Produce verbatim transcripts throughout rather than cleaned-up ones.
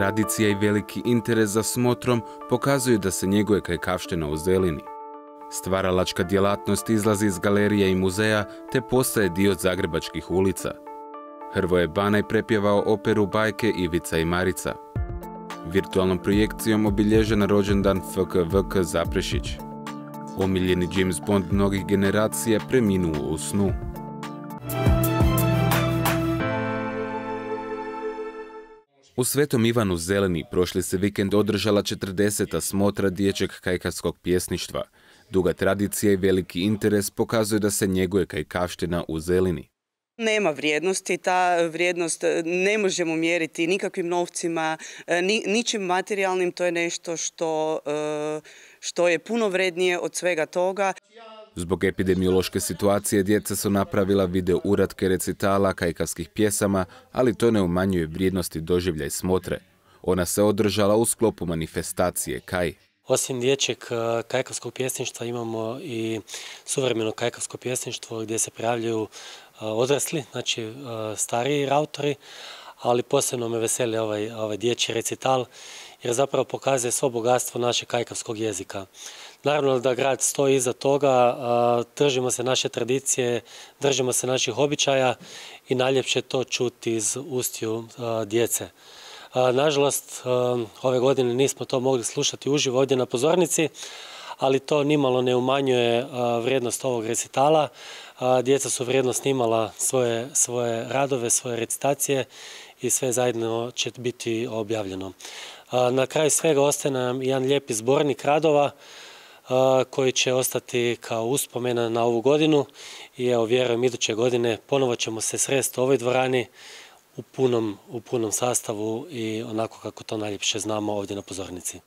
tradicija i veliki interes za smotrom pokazuju da se njeguje kajkavština u Zelini. Stvaralačka djelatnost izlazi iz galerije i muzeja te postaje dio zagrebačkih ulica. Hrvoje Banaj prepjevao operu Bajke Ivica i Marica. Virtualnom projekcijom obilježen rođendan F K V K Zaprešić. Omiljeni James Bond mnogih generacija preminuo u snu. U Svetom Ivanu Zelini prošli se vikend održala četrdeseta smotra dječjeg kajkavskog pjesništva. Duga tradicija i veliki interes pokazuju da se njeguje kajkavština u Zelini. Nema vrijednosti, ta vrijednost ne možemo mjeriti nikakvim novcima, ni, ničim materijalnim, to je nešto što, što je puno vrednije od svega toga. Zbog epidemiološke situacije djeca su napravila video uratke recitala kajkavskih pjesama, ali to ne umanjuje vrijednosti doživljaj smotre. Ona se održala u sklopu manifestacije Kaj. Osim dječjeg kajkavskog pjesništva imamo i suvremeno kajkavsko pjesništvo gdje se prijavljuju odrasli, znači stariji autori, ali posebno me veseli ovaj, ovaj dječji recital jer zapravo pokazuje svo bogatstvo našeg kajkavskog jezika. Naravno da grad stoji iza toga, držimo se naše tradicije, držimo se naših običaja i najljepše to čuti iz ustiju djece. Nažalost, ove godine nismo to mogli slušati uživo ovdje na pozornici, ali to nimalo ne umanjuje vrijednost ovog recitala. Djeca su vrijedno snimala svoje, svoje radove, svoje recitacije i sve zajedno će biti objavljeno. Na kraju svega ostaje nam jedan lijepi zbornik radova koji će ostati kao uspomena na ovu godinu i evo vjerujem iduće godine ponovo ćemo se sresti u ovoj dvorani u punom, u punom sastavu i onako kako to najljepše znamo ovdje na pozornici.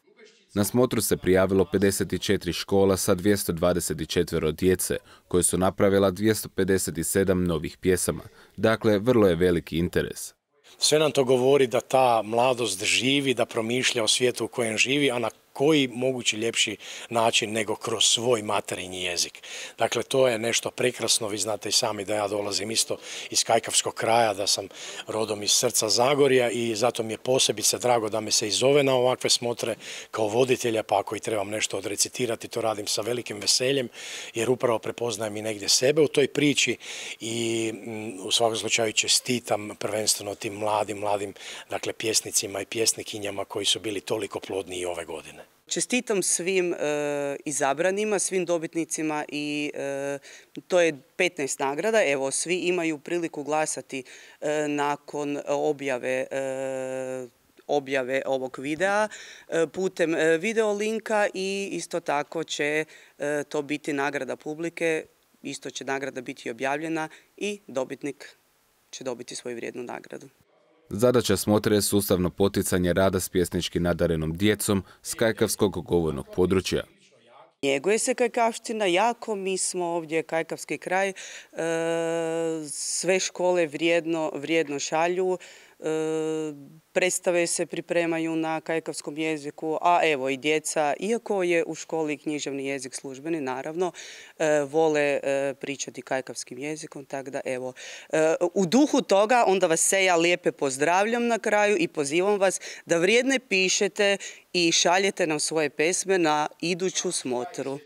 Na smotru se prijavilo pedeset četiri škola sa dvjesto dvadeset četiri djece, koje su napravila dvjesto pedeset sedam novih pjesama. Dakle, vrlo je veliki interes. Sve nam to govori da ta mladost živi, da promišlja o svijetu u kojem živi, a na koji mogući ljepši način nego kroz svoj materinji jezik. Dakle, to je nešto prekrasno. Vi znate i sami da ja dolazim isto iz kajkavskog kraja, da sam rodom iz srca Zagorja i zato mi je posebice drago da me se i zove na ovakve smotre kao voditelja, pa ako i trebam nešto odrecitirati, to radim sa velikim veseljem, jer upravo prepoznajem i negdje sebe u toj priči i u svakom slučaju čestitam prvenstveno tim mladim, mladim dakle, pjesnicima i pjesnikinjama koji su bili toliko plodni i ove godine. Čestitam svim e, izabranima, svim dobitnicima i e, to je petnaest nagrada. Evo, svi imaju priliku glasati e, nakon objave e, objave ovog videa e, putem e, video linka i isto tako će e, to biti nagrada publike, isto će nagrada biti objavljena i dobitnik će dobiti svoju vrijednu nagradu. Zadaća smotre je sustavno poticanje rada s pjesnički nadarenom djecom s kajkavskog govornog područja. Njeguje se kajkavština jako, mi smo ovdje kajkavski kraj, e, sve škole vrijedno, vrijedno šalju, e, predstave se pripremaju na kajkavskom jeziku, a evo i djeca, iako je u školi književni jezik službeni, naravno, e, vole e, pričati kajkavskim jezikom, tako da evo, e, u duhu toga onda vas se ja lijepe pozdravljam na kraju i pozivam vas da vrijedne pišete i šaljete nam svoje pesme na iduću smotru.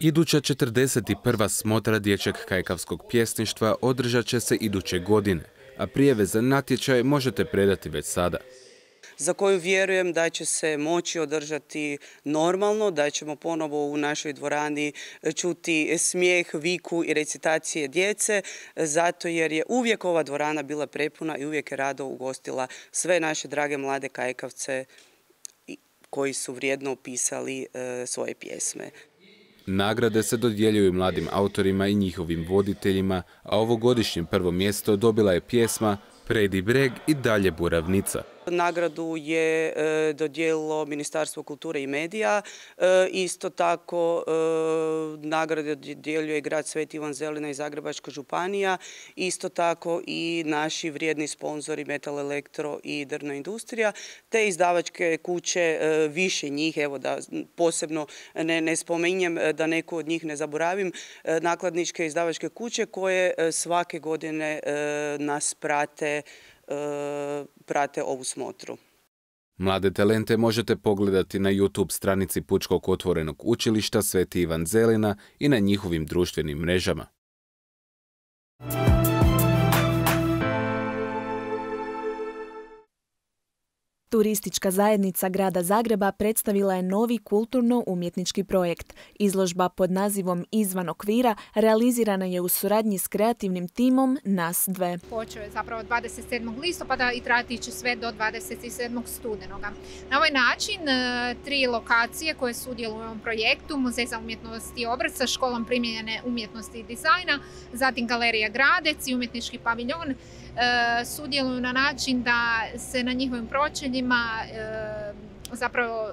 Iduća četrdeset prva smotra dječjeg kajkavskog pjesništva održat će se iduće godine, a prijave za natječaj možete predati već sada. Za koju vjerujem da će se moći održati normalno, da ćemo ponovo u našoj dvorani čuti smijeh, viku i recitacije djece, zato jer je uvijek ova dvorana bila prepuna i uvijek je rado ugostila sve naše drage mlade kajkavce koji su vrijedno opisali e, svoje pjesme. Nagrade se dodjeljuju mladim autorima i njihovim voditeljima, a ovogodišnje prvo mjesto dobila je pjesma Predi breg i dalje buravnica. Nagradu je e, dodijelilo Ministarstvo kulture i medija. E, isto tako e, nagrade dodjeljuje grad Sveti Ivan Zelina i Zagrebačka županija. Isto tako i naši vrijedni sponzori Metal Elektro i Drvna industrija, te izdavačke kuće, e, više njih, evo da posebno ne, ne spominjem, da neku od njih ne zaboravim, e, nakladničke izdavačke kuće koje e, svake godine e, nas prate prate ovu smotru. Mlade talente možete pogledati na YouTube stranici Pučkog otvorenog učilišta Sveti Ivan Zelina i na njihovim društvenim mrežama. Turistička zajednica Grada Zagreba predstavila je novi kulturno-umjetnički projekt. Izložba pod nazivom Izvan okvira realizirana je u suradnji s kreativnim timom Nas dve. Počeo je zapravo dvadeset sedmog listopada i trajati će sve do dvadeset sedmog studenoga. Na ovaj način tri lokacije koje sudjeluju u ovom projektu, Muzej za umjetnost i obrt sa školom primijenjene umjetnosti i dizajna, zatim Galerija Gradec i umjetnički paviljon, sudjeluju na način da se na njihovim pročeljima zapravo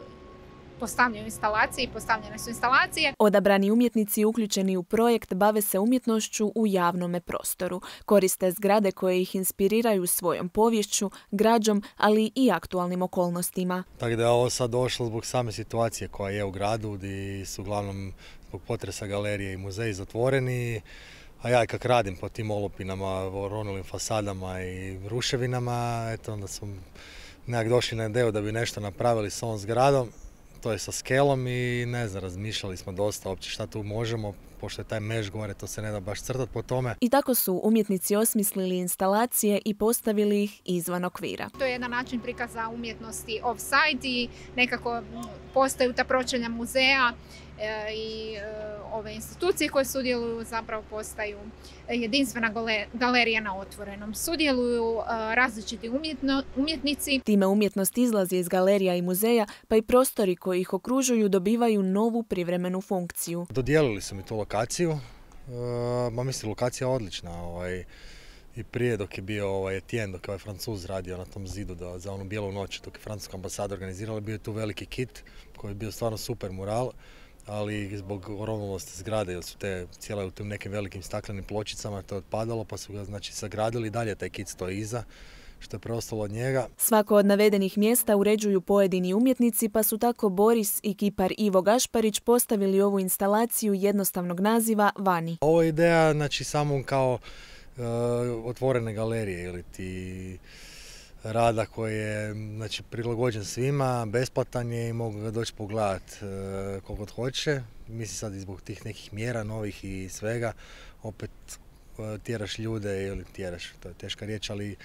postavljaju instalacije i postavljene su instalacije. Odabrani umjetnici uključeni u projekt bave se umjetnošću u javnome prostoru. Koriste zgrade koje ih inspiriraju svojom poviješću, građom, ali i aktualnim okolnostima. Tako da je ovo sad došlo zbog same situacije koja je u gradu, gdje su uglavnom zbog potresa galerije i muzeji zatvoreni. A ja kak radim po tim olupinama, oronulim fasadama i ruševinama, eto onda smo nekak došli na ideju da bi nešto napravili s ovom zgradom, to je sa skelom i ne znam, razmišljali smo dosta uopće šta tu možemo, pošto je taj meš gore, to se ne da baš crtati po tome. I tako su umjetnici osmislili instalacije i postavili ih izvan okvira. To je jedan način prikaza umjetnosti off-site i nekako postaju ta pročelja muzeja i ove institucije koje sudjeluju zapravo postaju jedinstvena galerija na otvorenom. Sudjeluju različiti umjetno, umjetnici. Time umjetnost izlazi iz galerija i muzeja, pa i prostori koji ih okružuju dobivaju novu privremenu funkciju. Dodijelili su mi tu lokaciju, ma mislim lokacija je odlična. Ovaj, I prije dok je bio ovaj Etienne, dok je ovaj Francuz radio na tom zidu da, za onu bijelu noć, dok je francuska ambasada organizirala, bio je tu veliki kit koji je bio stvarno super mural, ali zbog oronulosti zgrade, jer su te cijele u tim nekim velikim staklenim pločicama to je otpadalo, pa su ga znači sagradili, dalje taj kit stoji iza, što je preostalo od njega. Svako od navedenih mjesta uređuju pojedini umjetnici, pa su tako Boris i kipar Ivo Gašparić postavili ovu instalaciju jednostavnog naziva Vani. Ovo je ideja znači samo kao uh, otvorene galerije ili ti rada koji je znači, prilagođen svima, besplatan je i mogu ga doći pogledati e, koliko hoće. Mislim sad i zbog tih nekih mjera novih i svega, opet e, tjeraš ljude ili tjeraš, to je teška riječ, ali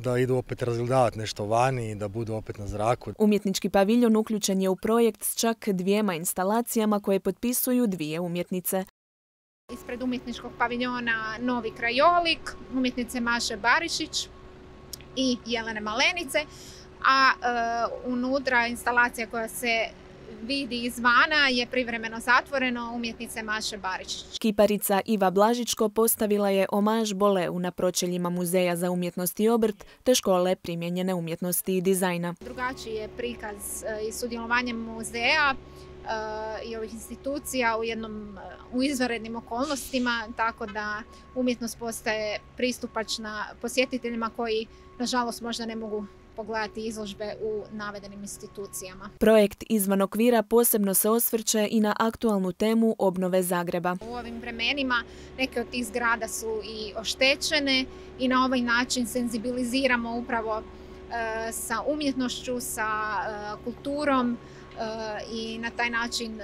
da idu opet razgledavati nešto vani i da budu opet na zraku. Umjetnički paviljon uključen je u projekt s čak dvijema instalacijama koje potpisuju dvije umjetnice. Ispred umjetničkog paviljona Novi krajolik, umjetnice Maše Barišić i Jelene Malenice, a e, unutra instalacija koja se vidi izvana je privremeno zatvoreno umjetnice Maše Barišić. Kiparica Iva Blažičko postavila je omaž Boleu na pročeljima Muzeja za umjetnost i obrt te škole primijenjene umjetnosti i dizajna. Drugačiji je prikaz i sudjelovanje muzeja i ovih institucija u jednom u izvanrednim okolnostima, tako da umjetnost postaje pristupačna posjetiteljima koji nažalost možda ne mogu pogledati izložbe u navedenim institucijama. Projekt Izvan okvira posebno se osvrće i na aktualnu temu obnove Zagreba. U ovim vremenima neke od tih zgrada su i oštećene i na ovaj način senzibiliziramo upravo e, sa umjetnošću, sa e, kulturom, i na taj način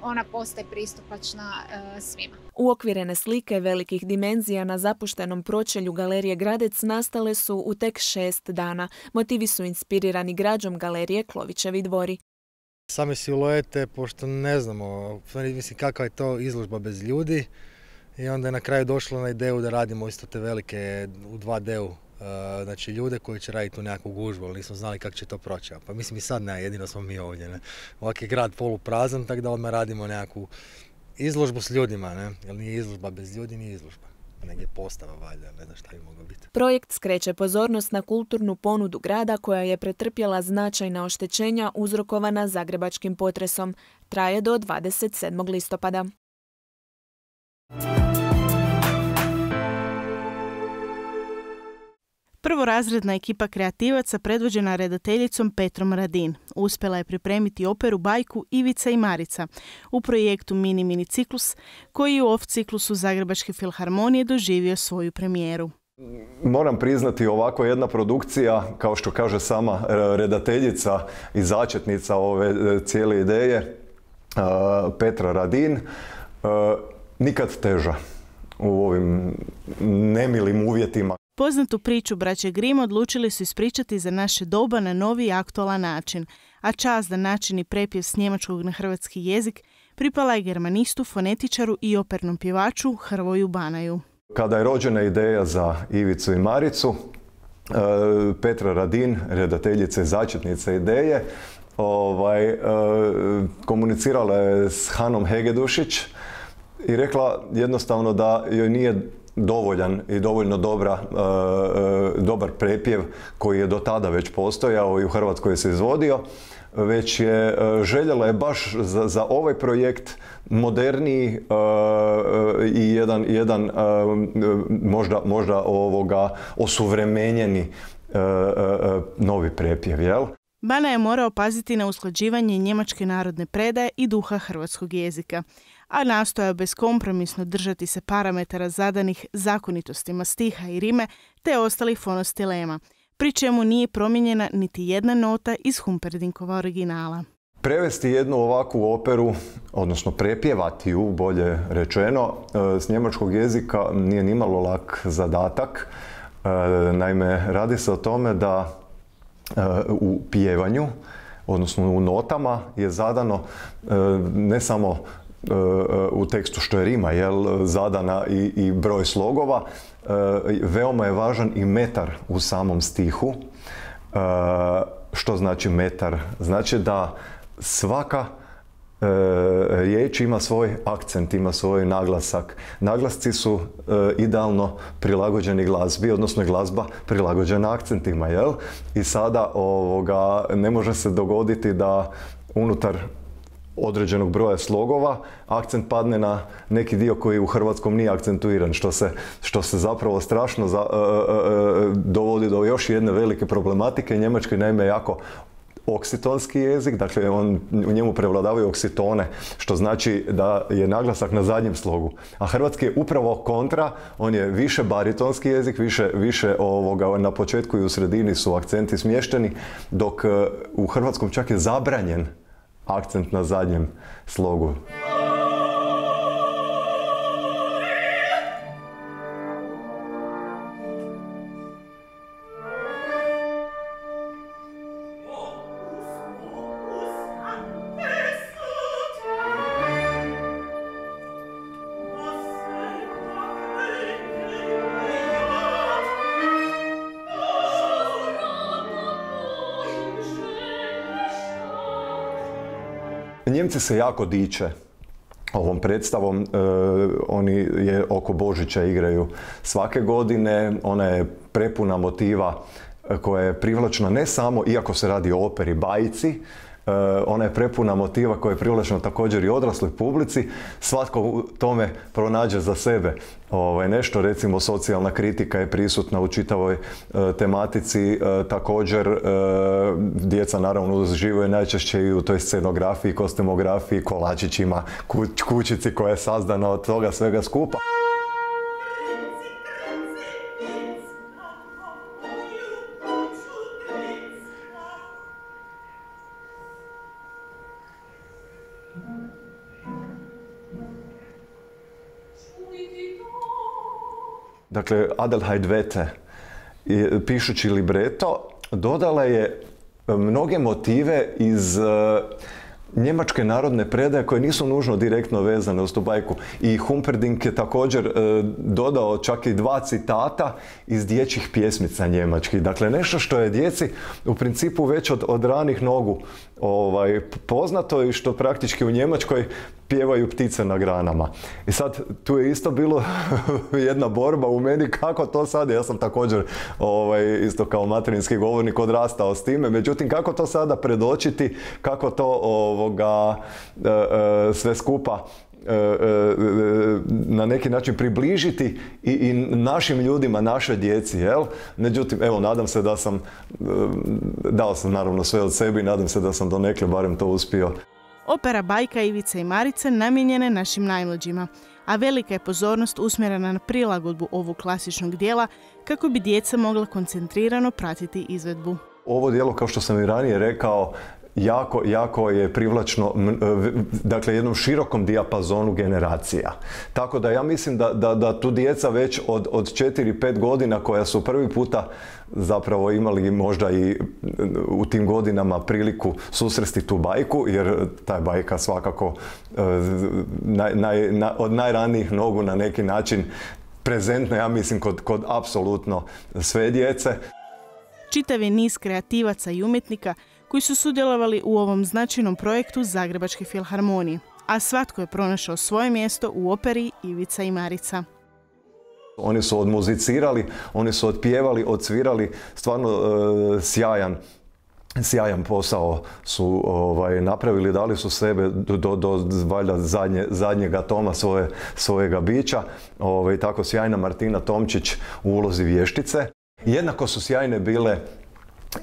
ona postaje pristupačna svima. Uokvirene slike velikih dimenzija na zapuštenom pročelju Galerije Gradec nastale su u tek šest dana. Motivi su inspirirani građom Galerije Klovićevi dvori. Same siluete, pošto ne znamo, mislim kakva je to izložba bez ljudi, i onda je na kraju došlo na ideju da radimo isto te velike u dva D-u. Znači ljude koji će raditi u nekakvu gužbu, ali nismo znali kako će to proći. Pa mislim i sad ne, jedino smo mi ovdje. Ne? Ovak je grad poluprazan, tako da odmah radimo nekakvu izložbu s ljudima, ne? Jer nije izložba bez ljudi, nije izložba. Negdje postava valjda, ne znam šta bi moglo biti. Projekt skreće pozornost na kulturnu ponudu grada koja je pretrpjela značajna oštećenja uzrokovana zagrebačkim potresom. Traje do dvadeset sedmog listopada. Prvorazredna ekipa kreativaca predvođena redateljicom Petrom Radin uspjela je pripremiti operu bajku Ivica i Marica u projektu Mini Mini ciklus koji u off ciklusu Zagrebačke filharmonije doživio svoju premijeru. Moram priznati, ovako jedna produkcija, kao što kaže sama redateljica i začetnica ove cijele ideje, Petra Radin, nikad teža u ovim nemilim uvjetima. Poznatu priču braće Grimm odlučili su ispričati za naše doba na novi i aktualan način, a čast da načini prepjev s njemačkog na hrvatski jezik pripala je germanistu, fonetičaru i opernom pjevaču Hrvoju Banaju. Kada je rođena ideja za Ivicu i Maricu, Petra Radin, redateljica i začetnica ideje, ovaj, komunicirala je s Hanom Hegedušić i rekla jednostavno da joj nije dovoljan i dovoljno dobra, dobar prepjev koji je do tada već postojao i u Hrvatskoj se izvodio, već je željela je baš za, za ovaj projekt moderniji uh, i jedan, jedan uh, možda, možda ovoga osuvremenjeni uh, uh, novi prepjev, jel? Bana je morao paziti na usklađivanje njemačke narodne predaje i duha hrvatskog jezika, a nastojao beskompromisno držati se parametara zadanih zakonitostima stiha i rime te ostalih fonostilema, pri čemu nije promijenjena niti jedna nota iz Humperdinkova originala. Prevesti jednu ovakvu operu, odnosno prepjevati ju, bolje rečeno, s njemačkog jezika nije nimalo lak zadatak. Naime, radi se o tome da u pjevanju, odnosno u notama, je zadano ne samo u tekstu što je rima, jel, zadana i, i broj slogova, veoma je važan i metar u samom stihu. Što znači metar? Znači da svaka e, riječ ima svoj akcent, ima svoj naglasak. Naglasci su e, idealno prilagođeni glazbi, odnosno je glazba prilagođena akcentima, jel? I sada ovoga, ne može se dogoditi da unutar određenog broja slogova akcent padne na neki dio koji u hrvatskom nije akcentuiran, što se, što se zapravo strašno za, e, e, dovodi do još jedne velike problematike. Njemački naime jako oksitonski jezik, dakle on, u njemu prevladavaju oksitone, što znači da je naglasak na zadnjem slogu. A hrvatski je upravo kontra, on je više baritonski jezik, više, više ovoga, na početku i u sredini su akcenti smješteni, dok u hrvatskom čak je zabranjen akcent na zadnjem slogu. Njemci se jako diče ovom predstavom. E, oni je oko Božića igraju svake godine. Ona je prepuna motiva koja je privlačna ne samo, iako se radi o operi bajci, e, ona je prepuna motiva koja je privlačna također i odrasloj publici. Svatko u tome pronađe za sebe ovaj, nešto, recimo socijalna kritika je prisutna u čitavoj e, tematici. E, također e, djeca naravno uživaju najčešće i u toj scenografiji, kostumografiji, kolačićima, kuć, kućici koja je sazdana od toga svega skupa. Dakle, Adelheid Wette, pišući libreto, dodala je mnoge motive iz uh, njemačke narodne predaje koje nisu nužno direktno vezane uz tu bajku. I Humperdinck je također uh, dodao čak i dva citata iz dječjih pjesmica njemačkih. Dakle, nešto što je djeci u principu već od, od ranih nogu ovaj, poznato i što praktički u Njemačkoj pjevaju ptice na granama. I sad, tu je isto bilo jedna borba u meni kako to sad, ja sam također ovaj, isto kao materinski govornik odrastao s time, međutim kako to sada predočiti, kako to ovoga, e, e, sve skupa e, e, na neki način približiti i, i našim ljudima, našoj djeci, jel? Međutim, evo, nadam se da sam, dao sam naravno sve od sebe i nadam se da sam donekle barem to uspio. Opera Bajka Ivice i Marice namijenjena je našim najmlađima, a velika je pozornost usmjerena na prilagodbu ovog klasičnog dijela kako bi djeca mogla koncentrirano pratiti izvedbu. Ovo djelo, kao što sam i ranije rekao, jako, jako je privlačno, dakle, jednom širokom dijapazonu generacija. Tako da ja mislim da, da, da tu djeca već od, od četiri pet godina koja su prvi puta zapravo imali možda i u tim godinama priliku susresti tu bajku, jer ta bajka svakako naj, naj, naj, od najranijih nogu na neki način prezentna, ja mislim, kod, kod apsolutno sve djece. Čitav je niz kreativaca i umjetnika koji su sudjelovali u ovom značajnom projektu Zagrebačke filharmonije, a svatko je pronašao svoje mjesto u operi Ivica i Marica. Oni su odmuzicirali, oni su otpjevali, odsvirali, stvarno e, sjajan, sjajan posao su ovaj, napravili, dali su sebe do, do, do valjda zadnje, zadnjega toma svoje, svojega bića. Ovaj, tako sjajna Martina Tomčić u ulozi vještice. Jednako su sjajne bile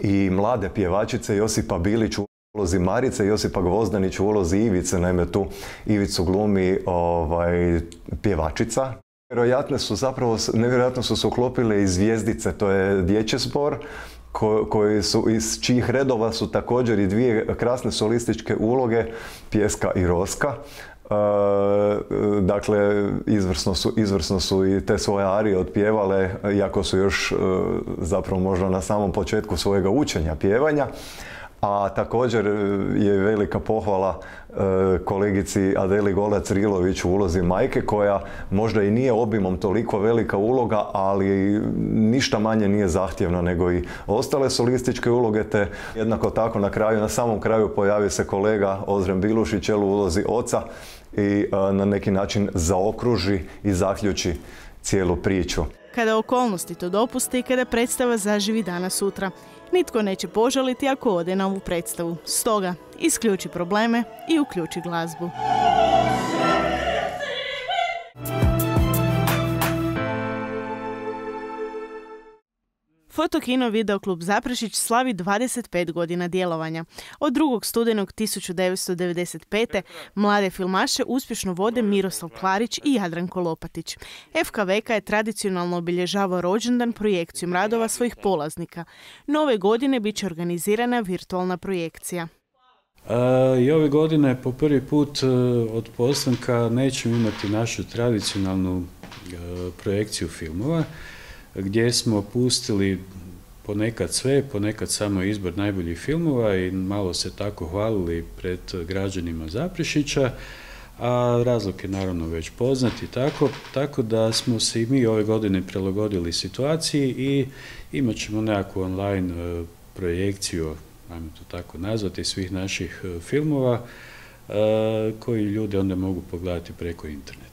i mlade pjevačice, Josipa Bilić u ulozi Marice, Josipa Gvozdanić u ulozi Ivice, naime tu Ivicu glumi ovaj, pjevačica. Nevjerojatno su zapravo, nevjerojatno su se uklopile i Zvijezdice, to je dječji zbor, ko, koji su, iz čijih redova su također i dvije krasne solističke uloge, Pjeska i Roska. Uh, dakle, izvrsno su, izvrsno su i te svoje arije otpjevale, iako su još uh, zapravo možda na samom početku svojega učenja pjevanja. A također je velika pohvala uh, kolegici Adeli Golac-Rilović u ulozi majke, koja možda i nije obimom toliko velika uloga, ali ništa manje nije zahtjevna nego i ostale solističke uloge, te jednako tako na kraju, na samom kraju pojavi se kolega Ozren Bilušić u ulozi oca i uh, na neki način zaokruži i zaključi cijelu priču. Kada okolnosti to dopuste i kada predstava zaživi danas sutra, nitko neće požaliti ako ode na ovu predstavu. Stoga, isključi probleme i uključi glazbu. Fotokino Videoklub Zaprešić slavi dvadeset pet godina djelovanja. Od drugog studenog tisuću devetsto devedeset pete. mlade filmaše uspješno vode Miroslav Klarić i Jadranko Lopatić. F K V K je tradicionalno obilježavao rođendan projekcijom radova svojih polaznika. Nove godine bit će organizirana virtualna projekcija. A, I ove godine po prvi put od postanka nećemo imati našu tradicionalnu a, projekciju filmova, gdje smo pustili ponekad sve, ponekad samo izbor najboljih filmova i malo se tako hvalili pred građanima Zaprešića, a razlog je naravno već poznat i tako, tako da smo se i mi ove godine prilagodili situaciji i imat ćemo nekakvu online projekciju, ajmo to tako nazvati, svih naših filmova koji ljudi onda mogu pogledati preko interneta.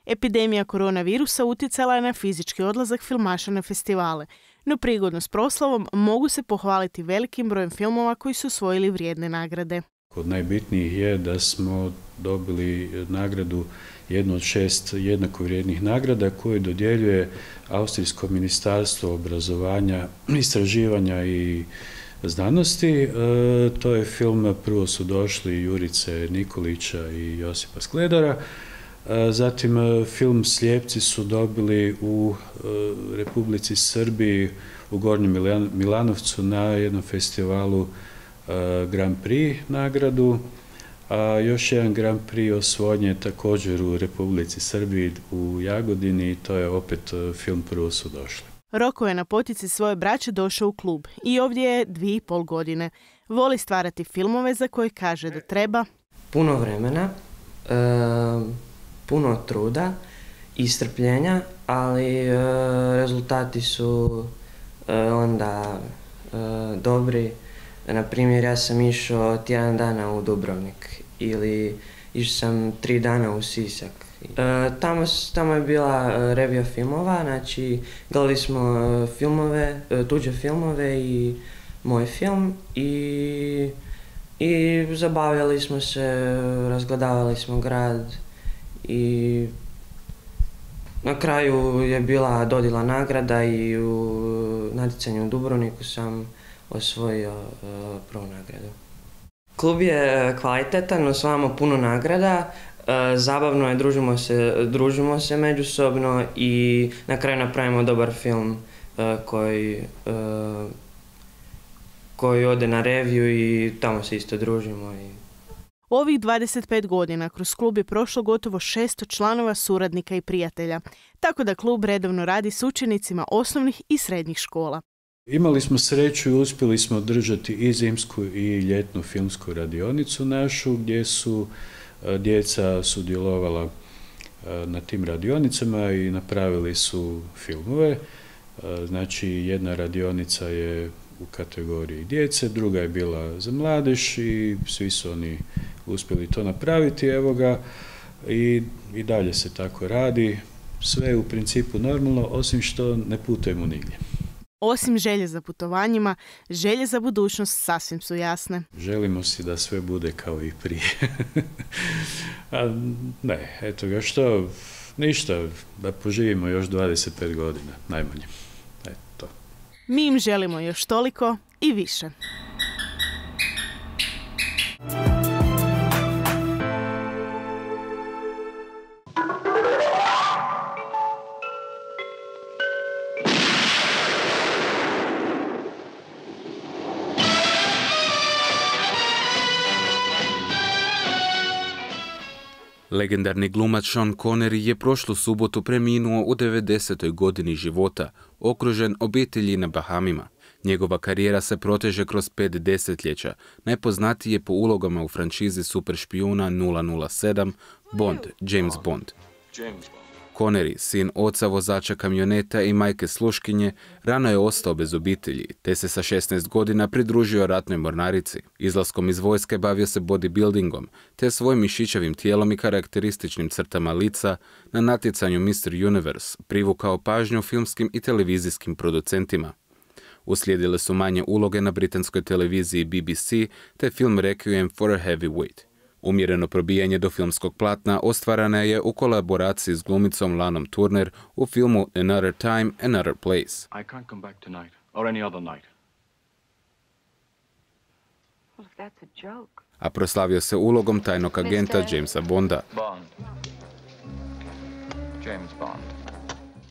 Epidemija koronavirusa utjecala je na fizički odlazak filmaša na festivale, no prigodno s proslavom mogu se pohvaliti velikim brojem filmova koji su osvojili vrijedne nagrade. Od najbitnijih je da smo dobili nagradu, jednu od šest jednako vrijednih nagrada koju dodjeljuje Austrijsko ministarstvo obrazovanja, istraživanja i znanosti. E, to je film Prvo su došli Jurice Nikolića i Josipa Skledara. Zatim film Slijepci su dobili u Republici Srbiji u Gornjem Milanovcu na jednom festivalu Grand Prix nagradu, a još jedan Grand Prix osvojen je također u Republici Srbiji u Jagodini i to je opet film Prvo su došli. Roko je na potici svoje braće došao u klub i ovdje je dvije i pol godine. Voli stvarati filmove za koje kaže da treba puno vremena, e puno truda i strpljenja, ali e, rezultati su e, onda e, dobri. Na primjer, ja sam išao tjedan dana u Dubrovnik ili išao sam tri dana u Sisak. E, tamo, tamo je bila revija filmova, znači gledali smo filmove, tuđe filmove i moj film i, i zabavljali smo se, razgledavali smo grad. I na kraju je bila dodjela nagrada i u natjecanju u Dubrovniku sam osvojio uh, prvu nagradu. Klub je kvalitetan, osvajamo puno nagrada, zabavno je, družimo se, družimo se međusobno i na kraju napravimo dobar film koji, koji ode na reviju i tamo se isto družimo. Ovih dvadeset pet godina kroz klub je prošlo gotovo šesto članova, suradnika i prijatelja, tako da klub redovno radi s učenicima osnovnih i srednjih škola. Imali smo sreću i uspjeli smo održati i zimsku i ljetnu filmsku radionicu našu, gdje su djeca sudjelovala na tim radionicama i napravili su filmove. Znači, jedna radionica je u kategoriji djece, druga je bila za mladež i svi su oni uspjeli to napraviti. Evo ga, i, i dalje se tako radi. Sve je u principu normalno, osim što ne putujemo nigdje. Osim želje za putovanjima, želje za budućnost sasvim su jasne. Želimo si da sve bude kao i prije. A ne, eto ga što, ništa, da poživimo još dvadeset pet godina, najmanje. Eto. Mi im želimo još toliko i više. Legendarni glumac Sean Connery je prošlu subotu preminuo u devedesetoj godini života, okružen obitelji na Bahamima. Njegova karijera se proteže kroz pet desetljeća, najpoznatiji je po ulogama u franšizi super špijuna nula nula sedam, Bond, James Bond. Connery, sin oca vozača kamioneta i majke sluškinje, rano je ostao bez obitelji, te se sa šesnaest godina pridružio ratnoj mornarici. Izlaskom iz vojske bavio se bodybuildingom, te svojim mišićavim tijelom i karakterističnim crtama lica na natjecanju mister Universe privukao pažnju filmskim i televizijskim producentima. Uslijedile su manje uloge na britanskoj televiziji B B C te film Requiem for a Heavyweight. Umjereno probijanje do filmskog platna ostvarana je u kolaboraciji s glumicom Lanom Turner u filmu Another Time, Another Place. I can't come back tonight or any other night. Well, if that's a joke. A proslavio se ulogom tajnog agenta Jamesa Bonda. Bond. James Bond.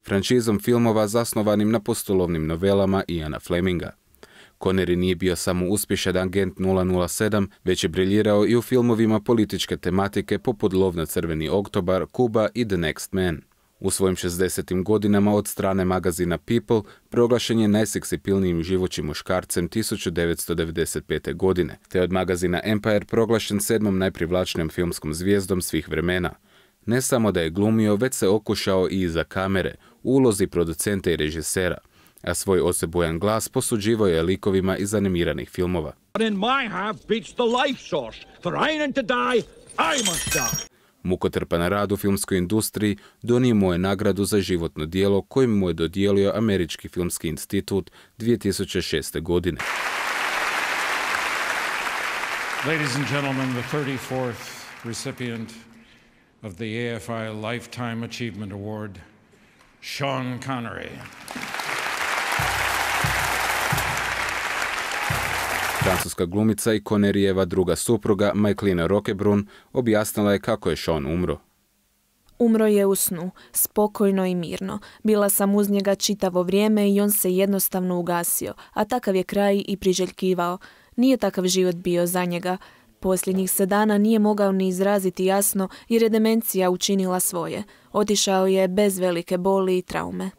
Franšizom filmova zasnovanim na postulovnim novelama Iana Fleminga. Connery nije bio samo uspješan agent nula nula sedam, već je briljirao i u filmovima političke tematike poput Lov na crveni oktobar, Kuba i The Next Man. U svojim šezdesetim godinama od strane magazina People proglašen je najseksipilnijim živućim muškarcem tisuću devetsto devedeset pete. godine, te od magazina Empire proglašen sedmom najprivlačnijom filmskom zvijezdom svih vremena. Ne samo da je glumio, već se okušao i iza kamere, u ulozi producenta i režisera, a svoj osebujan glas posuđivao je likovima iz animiranih filmova. Mukotrpan rad u filmskoj industriji donio mu je nagradu za životno djelo koju mu je dodijelio Američki filmski institut dvije tisuće šeste. godine. Ladies and gentlemen, the thirty-fourth recipient of the A F I Lifetime Achievement Award, Sean Connery. Francuska glumica i Conneryjeva druga supruga, Michaelina Roquebrune, objasnila je kako je Sean umro. Umro je u snu, spokojno i mirno. Bila sam uz njega čitavo vrijeme i on se jednostavno ugasio, a takav je kraj i priželjkivao. Nije takav život bio za njega. Posljednjih se dana nije mogao ni izraziti jasno jer je demencija učinila svoje. Otišao je bez velike boli i traume.